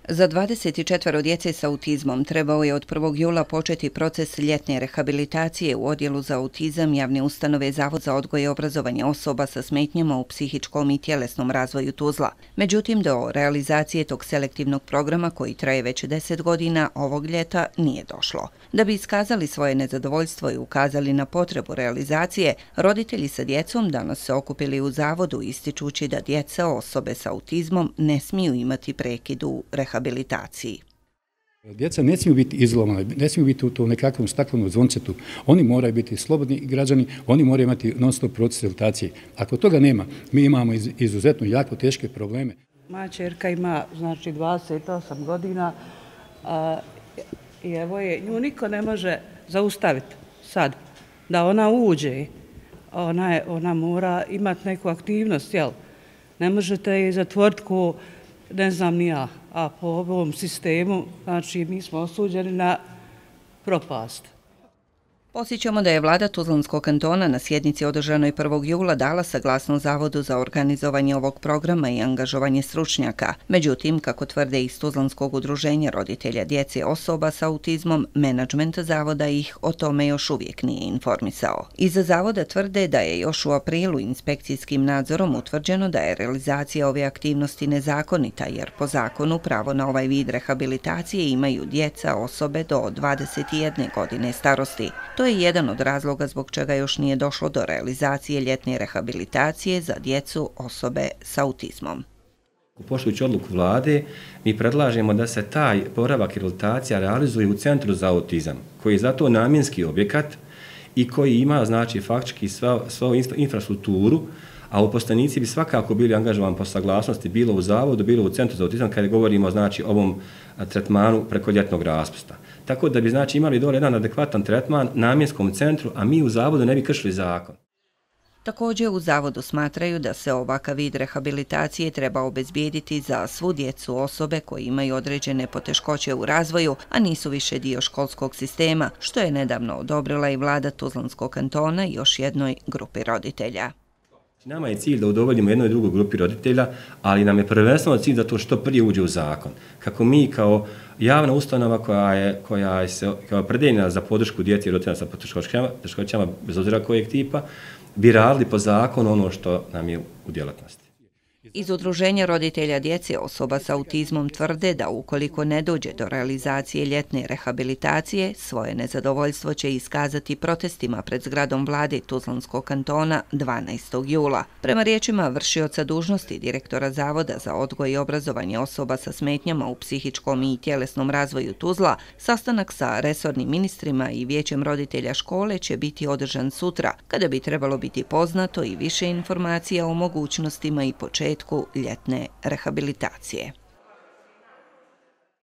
Za 24 djece sa autizmom trebao je od 1. jula početi proces ljetne rehabilitacije u Odjelu za autizam javne ustanove Zavod za odgoj i obrazovanje osoba sa smetnjama u psihičkom i tjelesnom razvoju Tuzla. Međutim, do realizacije tog selektivnog programa, koji traje već 10 godina, ovog ljeta nije došlo. Da bi iskazali svoje nezadovoljstvo i ukazali na potrebu realizacije, roditelji sa djecom danas se okupili u Zavodu, ističući da djeca osobe sa autizmom ne smiju imati prekid u rehabilitaciji. Djeca ne smiju biti izolovana, ne smiju biti u tom nekakvom staklenom zvoncetu. Oni moraju biti slobodni građani, oni moraju imati non-stop proces rehabilitacije. Ako toga nema, mi imamo izuzetno jako teške probleme. Moja ćerka ima 28 godina i evo je, nju niko ne može zaustaviti sad da ona uđe. Ona mora imati neku aktivnost, jel? Ne možete je zatvoriti ko ne znam ni ja, a po ovom sistemu, znači mi smo osuđeni na propast. Podsjećamo da je vlada Tuzlanskog kantona na sjednici održanoj 1. jula dala saglasnost Zavodu za organizovanje ovog programa i angažovanje stručnjaka. Međutim, kako tvrde iz Tuzlanskog udruženja roditelja djece osoba sa autizmom, menadžment Zavoda ih o tome još uvijek nije informisao. Iza Zavoda tvrde da je još u aprilu inspekcijskim nadzorom utvrđeno da je realizacija ove aktivnosti nezakonita, jer po zakonu pravo na ovaj vid rehabilitacije imaju djeca osobe do 21 godine starosti. To je jedan od razloga zbog čega još nije došlo do realizacije ljetne rehabilitacije za djecu osobe sa autizmom. Poštujući odluku vlade, mi predlažemo da se taj boravak i rehabilitacija realizuje u Centru za autizam, koji je zato namjenski objekat i koji ima, znači, faktički svu infrastrukturu, a uposlenici bi svakako bili angažovani po saglasnosti bilo u Zavodu, bilo u Centru za autizam, kada govorimo, znači, o ovom tretmanu preko ljetnog raspusta. Tako da bi, znači, imali dole jedan adekvatan tretman namjenskom centru, a mi u Zavodu ne bi kršili zakon. Također u Zavodu smatraju da se ovakav vid rehabilitacije treba obezbijediti za svu djecu osobe koji imaju određene poteškoće u razvoju, a nisu više dio školskog sistema, što je nedavno odobrila i vlada Tuzlanskog kantona i još jednoj grupi roditelja. Nama je cilj da udovoljimo jednoj i drugoj grupi roditelja, ali nam je prvenstveno cilj da to što prije uđe u zakon. Kako mi kao javna ustanova koja je opredeljena za podršku djeci i roditelja sa poteškoćama, bez obzira kojeg tipa, bi radili po zakonu ono što nam je u djelatnosti. Iz udruženja roditelja djece osoba sa autizmom tvrde da ukoliko ne dođe do realizacije ljetne rehabilitacije, svoje nezadovoljstvo će iskazati protestima pred zgradom vlade Tuzlanskog kantona 12. jula. Prema riječima vršioca dužnosti direktora Zavoda za odgoj i obrazovanje osoba sa smetnjama u psihičkom i tjelesnom razvoju Tuzla, sastanak sa resornim ministrima i vijećem roditelja škole će biti održan sutra, kada bi trebalo biti poznato i više informacija o mogućnostima i početku ljetne rehabilitacije.